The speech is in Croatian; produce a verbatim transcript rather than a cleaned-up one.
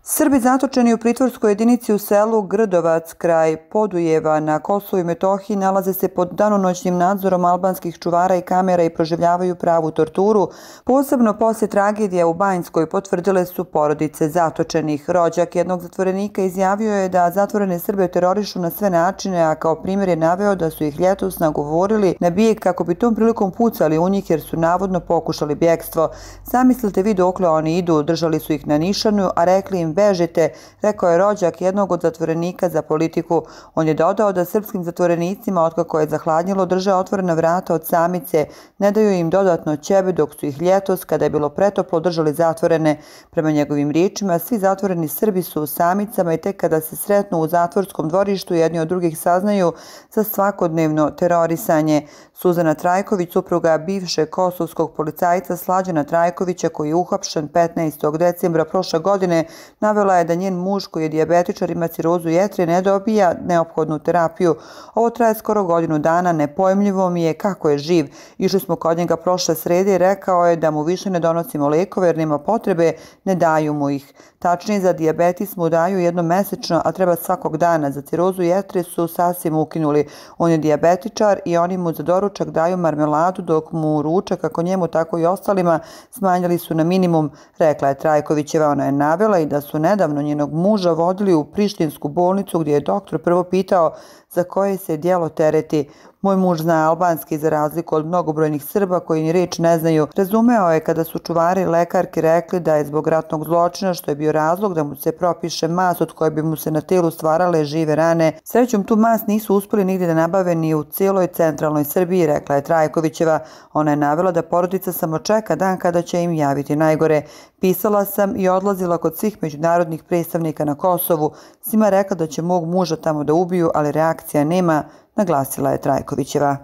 Srbi zatočeni u pritvorskoj jedinici u selu Grdovac kraj Podujeva na Kosovu i Metohiji nalaze se pod danonoćnim nadzorom albanskih čuvara i kamera i proživljavaju pravu torturu. Posebno posle tragedije u Banjskoj potvrdile su porodice zatočenih. Rođak jednog zatvorenika izjavio je da zatvorene Srbe terorišu na sve načine, a kao primjer je naveo da su ih ljetos nagovorili na bijeg kako bi tom prilikom pucali u njih jer su navodno pokušali bjegstvo. Zamislite vi dokle oni idu, držali su ih na nišanu, a rekli im bežite, rekao je rođak jednog od zatvorenika za politiku. On je dodao da srpskim zatvorenicima, otkako je zahladnjilo, drže otvorena vrata od samice, ne daju im dodatno ćebe, dok su ih ljetos, kada je bilo pretoplo, držali zatvorene. Prema njegovim riječima, svi zatvoreni Srbi su u samicama i tek kada se sretnu u zatvorskom dvorištu, jedni od drugih saznaju za svakodnevno terorisanje. Suzana Trajković, supruga bivšeg kosovskog policajca Slađana Trajkovića, koji je uhapšen petnaestog decembra prošle godine, navela je da njen muž, koji je dijabetičar, ima cirozu jetre, ne dobija neophodnu terapiju. Ovo traje skoro godinu dana, nepojmljivo mi je kako je živ. Išli smo kod njega prošle srede i rekao je da mu više ne donosimo lekove jer nema potrebe, ne daju mu ih. Tačnije, za dijabetis mu daju jednom mesečno, a treba svakog dana. Za cirozu jetre su sasvim ukinuli. On je dijabetičar i oni mu za doručak daju marmeladu, dok mu ručak, kako njemu tako i ostalima, smanjili su na minimum, rekla je Trajkovićeva. Ona je navela i da su nedavno njenog muža vodili u prištinsku bolnicu gdje je doktor prvo pitao za koje se djelo tereti. Moj muž zna albanski za razliku od mnogobrojnih Srba koji ni riječ ne znaju. Razumeo je kada su čuvari i lekarki rekli da je zbog ratnog zločina, što je bio razlog da mu se propiše mas od koje bi mu se na telu stvarale žive rane. Srećom, tu mas nisu uspjeli nigdje da nabave ni u cijeloj centralnoj Srbiji, rekla je Trajkovićeva. Ona je navela da porodica samo čeka dan kada će im javiti najgore. Pisala sam i odlazila kod svih međunarodnih predstavnika na Kosovu. Svima rekla da će mog muža tamo da ubiju, ali reakcija nema, naglasila je Trajkovićeva.